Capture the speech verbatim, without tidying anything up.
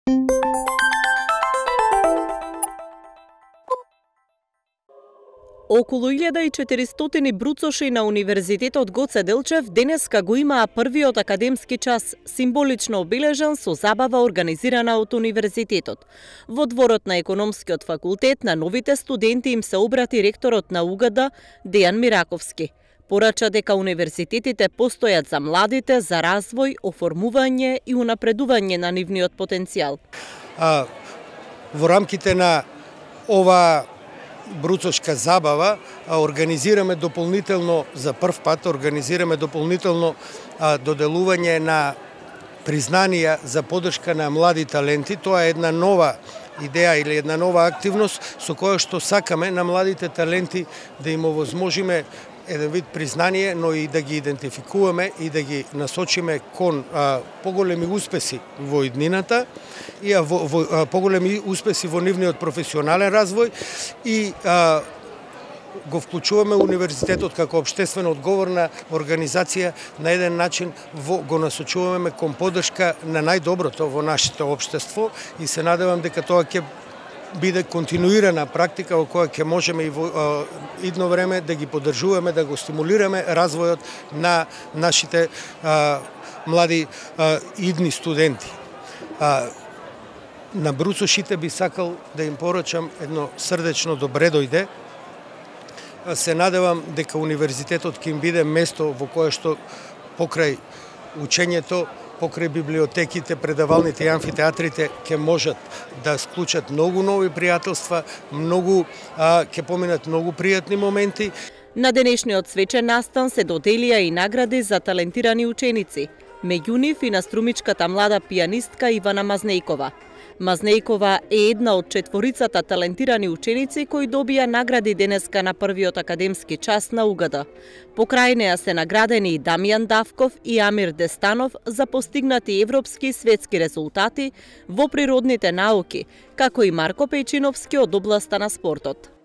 Околу илјада и четиристотини бруцоши на Универзитетот Гоце Делчев денеска го имаа првиот академски час, символично обележан со забава организирана од Универзитетот. Во дворот на Економскиот факултет на новите студенти им се обрати ректорот на УГД Дејан Мираковски. Порача дека универзитетите постојат за младите, за развој, оформување и унапредување на нивниот потенцијал. А, во рамките на ова бруцошка забава организираме дополнително за прв пат организираме дополнително а, доделување на признанија за поддршка на млади таленти. Тоа е една нова идеја или една нова активност со која што сакаме на младите таленти да им овозможиме еден вид признание, но и да ги идентификуваме и да ги насочиме кон а, поголеми успеси во иднината и а, во, во, а, поголеми успеси во нивниот професионален развој и а, го вклучуваме универзитетот како општествено одговорна организација на еден начин во, го насочуваме кон поддршка на најдоброто во нашето општество и се надевам дека тоа ќе биде континуирана практика во која ќе можеме и во а, идно време да ги поддржуваме, да го стимулираме развојот на нашите а, млади а, идни студенти. А, на бруцошите би сакал да им порачам едно срдечно добре дојде. Се надевам дека универзитетот ќе им биде место во кое што покрај учењето, покрај библиотеките, предавалните и амфитеатрите ќе можат да склучат многу нови пријателства, многу а, ќе поминат многу пријатни моменти. На денешниот свечен настан се доделија и награди за талентирани ученици, меѓу нив и наструмичката млада пијанистка Ивана Мазнејкова. Мазнејкова е една од четворицата талентирани ученици кои добија награди денеска на првиот академски час на УГД. Покрај неа се наградени и Дамјан Давков и Амир Дестанов за постигнати европски и светски резултати во природните науки, како и Марко Пејчиновски од областа на спортот.